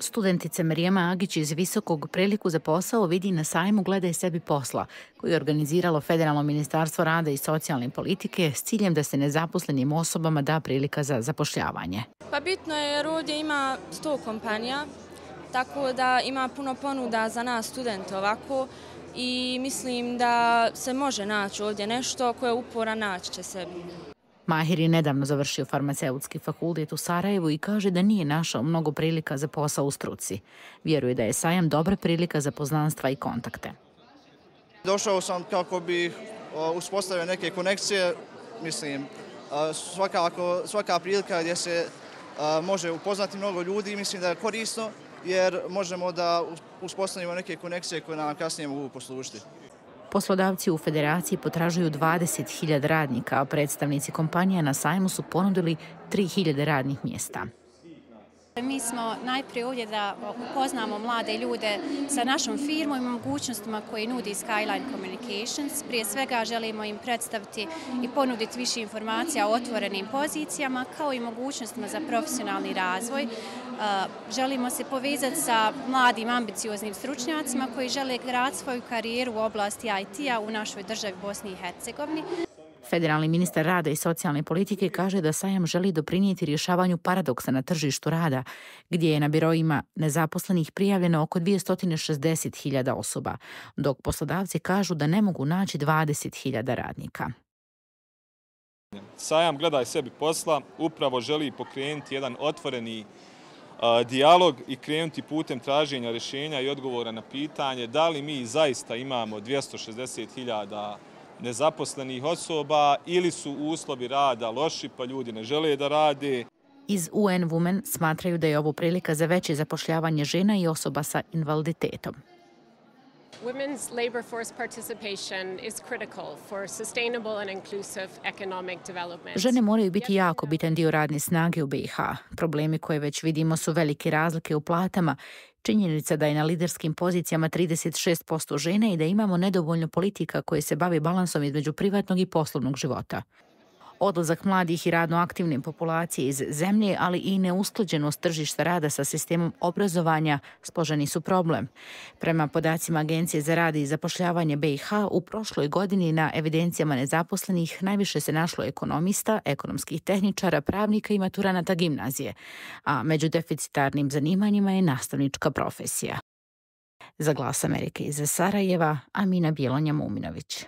Studentica Marijama Agić iz Visokog priliku za posao vidi na sajmu Gledaj sebi posla, koji je organiziralo Federalno ministarstvo rada i socijalne politike s ciljem da se nezaposlenim osobama da prilika za zapošljavanje. Pa bitno je jer ovdje ima 100 kompanija, tako da ima puno ponuda za nas studente ovako i mislim da se može naći ovdje nešto koje je uporan naći će sebi. Mahir je nedavno završio farmaceutski fakultet u Sarajevu i kaže da nije našao mnogo prilika za posao u struci. Vjeruje da je sajam dobra prilika za poznanstva i kontakte. Došao sam kako bi uspostavio neke konekcije, mislim, svaka prilika gdje se može upoznati mnogo ljudi, mislim da je korisno jer možemo da uspostavimo neke konekcije koje nam kasnije mogu poslužiti. Poslodavci u federaciji potražuju 20.000 radnika, a predstavnici kompanija na sajmu su ponudili 3.000 radnih mjesta. Mi smo najprije ovdje da upoznamo mlade ljude sa našom firmom i mogućnostima koje nudi Skyline Communications. Prije svega želimo im predstaviti i ponuditi više informacija o otvorenim pozicijama kao i mogućnostima za profesionalni razvoj. Želimo se povezati sa mladim ambicioznim stručnjacima koji žele graditi svoju karijeru u oblasti IT-a u našoj državi Bosni i Hercegovini. Federalni ministar rada i socijalne politike kaže da sajam želi doprinijeti rješavanju paradoksa na tržištu rada, gdje je na biroima nezaposlenih prijavljeno oko 260.000 osoba, dok poslodavci kažu da ne mogu naći 20.000 radnika. Sajam Gledaj sebi posla upravo želi pokrenuti jedan otvoreni dijalog i krenuti putem traženja rješenja i odgovora na pitanje da li mi zaista imamo 260.000 nezaposlenih osoba ili su uslovi rada loši pa ljudi ne žele da rade. Iz UN Women smatraju da je ovo prilika za veće zapošljavanje žena i osoba sa invaliditetom. Women's labor force participation is critical for sustainable and inclusive economic development. Žene moraju biti jako bitan dio radne snage u BiH. Problemi koje već vidimo su velike razlike u platama, činjenica da je na liderskim pozicijama 36% žena i da imamo nedovoljno politika koje se bave balansom između privatnog i poslovnog života. Odlazak mladih i radno aktivne populacije iz zemlje, ali i neusklađenost tržišta rada sa sistemom obrazovanja složeni su problem. Prema podacima Agencije za rad i zapošljavanje BiH, u prošloj godini na evidencijama nezaposlenih najviše se našlo ekonomista, ekonomskih tehničara, pravnika i maturanata gimnazije, a među deficitarnim zanimanjima je nastavnička profesija. Za Glas Amerike iz Sarajeva, Amina Bjelonja Muminović.